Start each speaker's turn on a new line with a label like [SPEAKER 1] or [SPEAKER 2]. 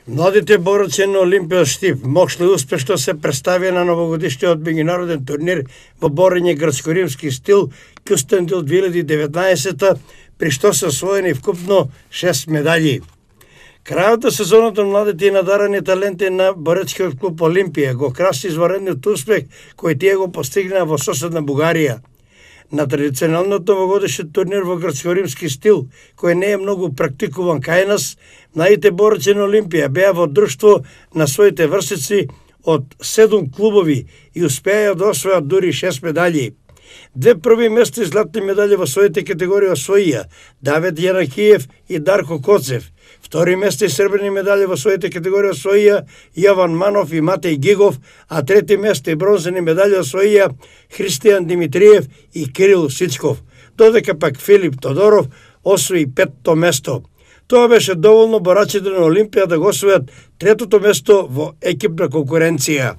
[SPEAKER 1] Младите борци на Олимпија Штип могле успешно се представија на новогодишниот меѓународен турнир во борење грцко-римски стил Кюстендил 2019, при што се освоени вкупно 6 медаљи. Крајот на сезоната младите и надарени таленти на боречкиот клуб Олимпија го краси изваредниот успех кој тие го постигнаа во соседна Бугарија. На традиционалниот новогодишен турнир во грцко-римски стил, кој не е многу практикуван кај нас, младите борци на Олимпија беа во друштво на своите врсници од 7 клубови и успеа да освојат дури 6 медаљи. 2 први места и златни медаљи во своите категории освоија Давид Јанакиев и Дарко Коцев. Втори место и сребрени медали во своите категории освоија Јован Манов и Матеј Гигов, а трети место и бронзени медали освоија Христијан Димитриев и Кирил Сичков, додека пак Филип Тодоров освои 5-то место. Тоа беше доволно борачите на Олимпија да го освојат 3-то место во екипна конкуренција.